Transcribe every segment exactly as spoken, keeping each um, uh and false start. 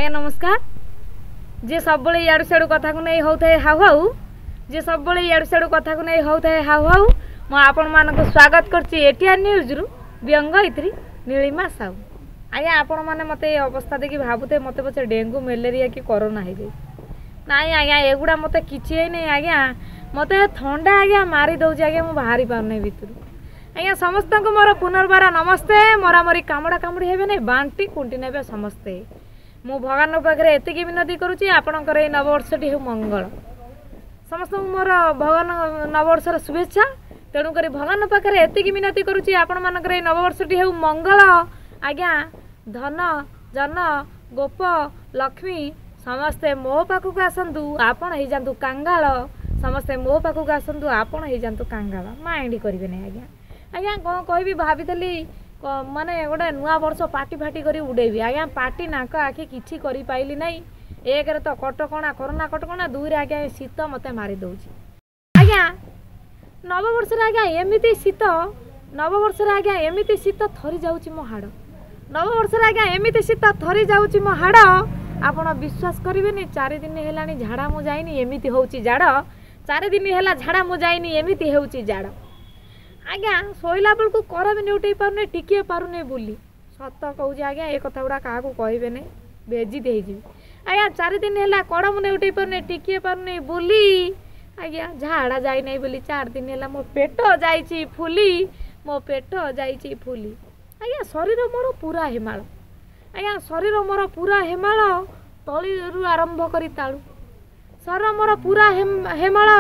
ଆଜ୍ଞା ନମସ୍କାର। ଯିଏ ସବୁବେଳେ ଇଆଡ଼ୁ ସିଆଡ଼ୁ କଥାକୁ ନେଇ ହେଉଥାଏ ହାଉ ହାଉ, ଯିଏ ସବୁବେଳେ ଇଆଡ଼ୁ ସିଆଡ଼ୁ କଥାକୁ ନେଇ ହେଉଥାଏ ହାଉ ହାଉ, ମୁଁ ଆପଣମାନଙ୍କୁ ସ୍ୱାଗତ କରୁଛି ଏଟିଆର୍ ନ୍ୟୁଜ୍ରୁ ବ୍ୟଙ୍ଗୟିତ୍ରୀ ନୀଳିମା ସାହୁ। ଆଜ୍ଞା ଆପଣମାନେ ମୋତେ ଏ ଅବସ୍ଥା ଦେଖି ଭାବୁଥିବେ ମୋତେ ପଛେ ଡେଙ୍ଗୁ, ମ୍ୟାଲେରିଆ କି କରୋନା ହେଇଯାଇଛି। ନାଇଁ ଆଜ୍ଞା, ଏଗୁଡ଼ା ମୋତେ କିଛି ହେଇନି ଆଜ୍ଞା। ମୋତେ ଥଣ୍ଡା ଆଜ୍ଞା ମାରି ଦେଉଛି ଆଜ୍ଞା, ମୁଁ ବାହାରି ପାରୁନି ଭିତରୁ ଆଜ୍ଞା। ସମସ୍ତଙ୍କୁ ମୋର ପୁନର୍ବାର ନମସ୍ତେ। ମରାମରି କାମୁଡ଼ା କାମୁଡ଼ି ହେବେ ନାହିଁ, ବାଣ୍ଟି କୁଣ୍ଟି ନେବେ ସମସ୍ତେ। ମୁଁ ଭଗବାନଙ୍କ ପାଖରେ ଏତିକି ବିନତି କରୁଛି, ଆପଣଙ୍କର ଏଇ ନବବର୍ଷଟି ହେଉ ମଙ୍ଗଳ। ସମସ୍ତଙ୍କୁ ମୋର ଭଗବାନ ନବବର୍ଷର ଶୁଭେଚ୍ଛା। ତେଣୁକରି ଭଗବାନଙ୍କ ପାଖରେ ଏତିକି ବିନତି କରୁଛି, ଆପଣମାନଙ୍କର ଏଇ ନବବର୍ଷଟି ହେଉ ମଙ୍ଗଳ ଆଜ୍ଞା। ଧନ ଜନ ଗୋପ ଲକ୍ଷ୍ମୀ ସମସ୍ତେ ମୋ ପାଖକୁ ଆସନ୍ତୁ, ଆପଣ ହେଇଯାଆନ୍ତୁ କାଙ୍ଗାଳ। ସମସ୍ତେ ମୋ ପାଖକୁ ଆସନ୍ତୁ, ଆପଣ ହେଇଯାଆନ୍ତୁ କାଙ୍ଗାଳ। ମାଇଣ୍ଡ କରିବେ ନାହିଁ ଆଜ୍ଞା। ଆଜ୍ଞା କ'ଣ କହିବି, ଭାବିଥିଲି ମାନେ ଗୋଟେ ନୂଆ ବର୍ଷ ପାର୍ଟି ଫାଟି କରି ଉଡ଼େଇବି ଆଜ୍ଞା। ପାର୍ଟି ନାକ ଆଖି କିଛି କରିପାରିଲି ନାହିଁ। ଏକରେ ତ କଟକଣା, କରୋନା କଟକଣା, ଦୁଇରେ ଆଜ୍ଞା ଏ ଶୀତ ମୋତେ ମାରି ଦେଉଛି ଆଜ୍ଞା। ନବବର୍ଷରେ ଆଜ୍ଞା ଏମିତି ଶୀତ, ନବବର୍ଷରେ ଆଜ୍ଞା ଏମିତି ଶୀତ ଥରି ଯାଉଛି ମୋ ହାଡ଼। ନବବର୍ଷରେ ଆଜ୍ଞା ଏମିତି ଶୀତ ଥରି ଯାଉଛି ମୋ ହାଡ଼। ଆପଣ ବିଶ୍ୱାସ କରିବେନି, ଚାରି ଦିନ ହେଲାଣି ଝାଡ଼ା ମୁଁ ଯାଇନି, ଏମିତି ହେଉଛି ଜାଡ଼। ଚାରି ଦିନ ହେଲା ଝାଡ଼ା ମୁଁ ଯାଇନି, ଏମିତି ହେଉଛି ଜାଡ଼ ଆଜ୍ଞା। ଶୋଇଲା ବେଳକୁ କର ବି ନେଉଟେଇ ପାରୁନି, ଟିକିଏ ପାରୁନି ବୁଲି। ସତ କହୁଛି ଆଜ୍ଞା, ଏ କଥା ଗୁଡ଼ା କାହାକୁ କହିବେନି, ବେଜିତ ହେଇଯିବି ଆଜ୍ଞା। ଚାରି ଦିନ ହେଲା କଡ଼ ମୁଁ ନେଉଟେଇ ପାରୁନି, ଟିକିଏ ପାରୁନି ବୁଲି ଆଜ୍ଞା। ଝାଡ଼ା ଯାଇନାହିଁ ବୋଲି ଚାରି ଦିନ ହେଲା ମୋ ପେଟ ଯାଇଛି ଫୁଲି, ମୋ ପେଟ ଯାଇଛି ଫୁଲି ଆଜ୍ଞା। ଶରୀର ମୋର ପୁରା ହେମାଳ ଆଜ୍ଞା, ଶରୀର ମୋର ପୁରା ହେମାଳ, ତଳିରୁ ଆରମ୍ଭ କରି ତାଳୁ। ଶରୀର ମୋର ପୁରା ହେମାଳ,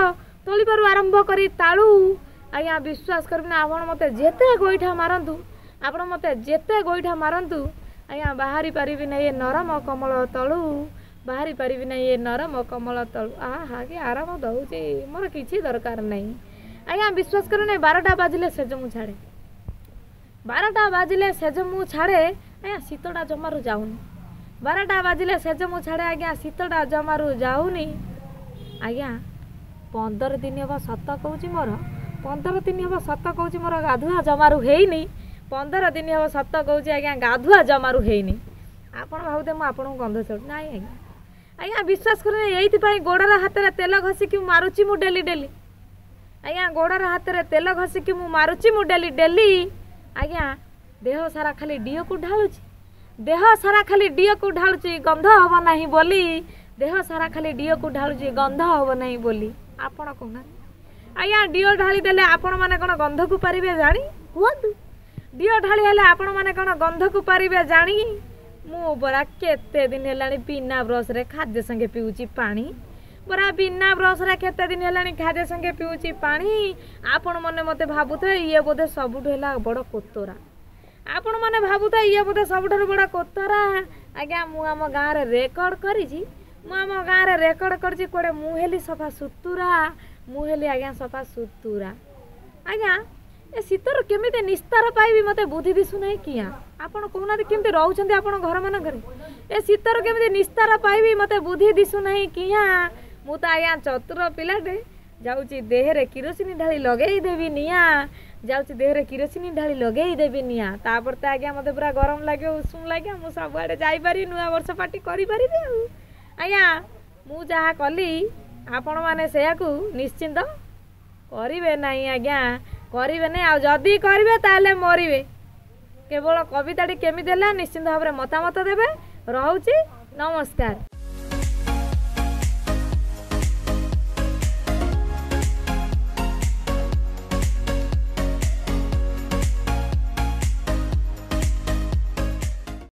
ତଳିପାରୁ ଆରମ୍ଭ କରି ତାଳୁ ଆଜ୍ଞା। ବିଶ୍ୱାସ କରିବେନି, ଆପଣ ମୋତେ ଯେତେ ଗୋଇଠା ମାରନ୍ତୁ, ଆପଣ ମୋତେ ଯେତେ ଗୋଇଠା ମାରନ୍ତୁ ଆଜ୍ଞା, ବାହାରି ପାରିବି ନାହିଁ ଏ ନରମ କମଳ ତଳୁ, ବାହାରି ପାରିବି ନାହିଁ ଏ ନରମ କମଳ ତଳୁ। ଆହା କି ଆରାମ ଦେଉଛି, ମୋର କିଛି ଦରକାର ନାହିଁ ଆଜ୍ଞା। ବିଶ୍ୱାସ କରିବେନି, ବାରଟା ବାଜିଲେ ସେଜ ମୁଁ ଛାଡ଼େ, ବାରଟା ବାଜିଲେ ସେଜ ମୁଁ ଛାଡ଼େ ଆଜ୍ଞା, ଶୀତଟା ଜମାରୁ ଯାଉନି। ବାରଟା ବାଜିଲେ ସେଜ ମୁଁ ଛାଡ଼େ ଆଜ୍ଞା, ଶୀତଟା ଜମାରୁ ଯାଉନି ଆଜ୍ଞା। ପନ୍ଦର ଦିନ ହେବ ସତ କହୁଛି ମୋର, ପନ୍ଦର ଦିନ ହେବ ସତ କହୁଛି ମୋର ଗାଧୁଆ ଜମାରୁ ହେଇନି। ପନ୍ଦର ଦିନ ହେବ ସତ କହୁଛି ଆଜ୍ଞା, ଗାଧୁଆ ଜମାରୁ ହେଇନି। ଆପଣ ଭାବୁଥିବେ ମୁଁ ଆପଣଙ୍କୁ ଗନ୍ଧ ଛାଡ଼ୁ ନାଇଁ ଆଜ୍ଞା। ଆଜ୍ଞା ବିଶ୍ୱାସ କରୁନି, ଏଇଥିପାଇଁ ଗୋଡ଼ର ହାତରେ ତେଲ ଘଷିକି ମୁଁ ମାରୁଛି ମୁଁ ଡେଲି ଡେଲି ଆଜ୍ଞା। ଗୋଡ଼ର ହାତରେ ତେଲ ଘଷିକି ମୁଁ ମାରୁଛି ମୁଁ ଡେଲି ଡେଲି ଆଜ୍ଞା। ଦେହ ସାରା ଖାଲି ଡିଅକୁ ଢାଳୁଛି, ଦେହ ସାରା ଖାଲି ଡିଅକୁ ଢାଳୁଛି ଗନ୍ଧ ହେବ ନାହିଁ ବୋଲି। ଦେହ ସାରା ଖାଲି ଡିଅକୁ ଢାଳୁଛି ଗନ୍ଧ ହେବ ନାହିଁ ବୋଲି। ଆପଣ କହୁନାହାନ୍ତି ଆଜ୍ଞା, ଡିଅ ଢାଳି ଦେଲେ ଆପଣମାନେ କ'ଣ ଗନ୍ଧକୁ ପାରିବେ ଜାଣି? କୁହନ୍ତୁ, ଡିଅ ଢାଳି ହେଲେ ଆପଣମାନେ କ'ଣ ଗନ୍ଧକୁ ପାରିବେ ଜାଣି? ମୁଁ ପରା କେତେ ଦିନ ହେଲାଣି ବିନା ବ୍ରସ୍ରେ ଖାଦ୍ୟ ସାଙ୍ଗେ ପିଉଛି ପାଣି, ପରା ବିନା ବ୍ରସ୍ରେ କେତେ ଦିନ ହେଲାଣି ଖାଦ୍ୟ ସାଙ୍ଗେ ପିଉଛି ପାଣି। ଆପଣମାନେ ମୋତେ ଭାବୁଥିବେ ଇଏ ବୋଧେ ସବୁଠୁ ହେଲା ବଡ଼ କୋତରା, ଆପଣମାନେ ଭାବୁଥିବେ ଇଏ ବୋଧେ ସବୁଠାରୁ ବଡ଼ କୋତରା ଆଜ୍ଞା। ମୁଁ ଆମ ଗାଁରେ ରେକର୍ଡ଼ କରିଛି, ମୁଁ ଆମ ଗାଁରେ ରେକର୍ଡ଼ କରିଛି କୁଆଡ଼େ ମୁଁ ହେଲି ସଫା ସୁତୁରା, ମୁଁ ହେଲି ଆଜ୍ଞା ସଫା ସୁତୁରା ଆଜ୍ଞା। ଏ ଶୀତରୁ କେମିତି ନିସ୍ତାର ପାଇବି ମୋତେ ବୁଦ୍ଧି ଦିଶୁନାହିଁ କିଆଁ। ଆପଣ କହୁନାହାନ୍ତି କେମିତି ରହୁଛନ୍ତି ଆପଣ ଘରମାନଙ୍କରେ? ଏ ଶୀତରୁ କେମିତି ନିସ୍ତାର ପାଇବି ମୋତେ ବୁଦ୍ଧି ଦିଶୁନାହିଁ କିଆଁ। ମୁଁ ତ ଆଜ୍ଞା ଚତୁର ପିଲାଟେ, ଯାଉଛି ଦେହରେ କିରୋସିନି ଢାଳି ଲଗେଇଦେବି ନିଆଁ, ଯାଉଛି ଦେହରେ କିରୋସିନି ଢାଳି ଲଗେଇଦେବି ନିଆଁ। ତାପରେ ତ ଆଜ୍ଞା ମୋତେ ପୁରା ଗରମ ଲାଗିବ, ଉଷୁମ ଲାଗିବ, ମୁଁ ସବୁଆଡ଼େ ଯାଇପାରିବି, ନୂଆ ବର୍ଷ ପାର୍ଟି କରିପାରିବି। ଆଉ ଆଜ୍ଞା ମୁଁ ଯାହା କଲି ଆପଣମାନେ ସେୟାକୁ ନିଶ୍ଚିନ୍ତ କରିବେ ନାହିଁ ଆଜ୍ଞା, କରିବେ ନାହିଁ। ଆଉ ଯଦି କରିବେ ତାହେଲେ ମରିବେ। କେବଳ କବିତାଟି କେମିତି ହେଲା ନିଶ୍ଚିନ୍ତ ଭାବରେ ମତାମତ ଦେବେ। ରହୁଛି, ନମସ୍କାର।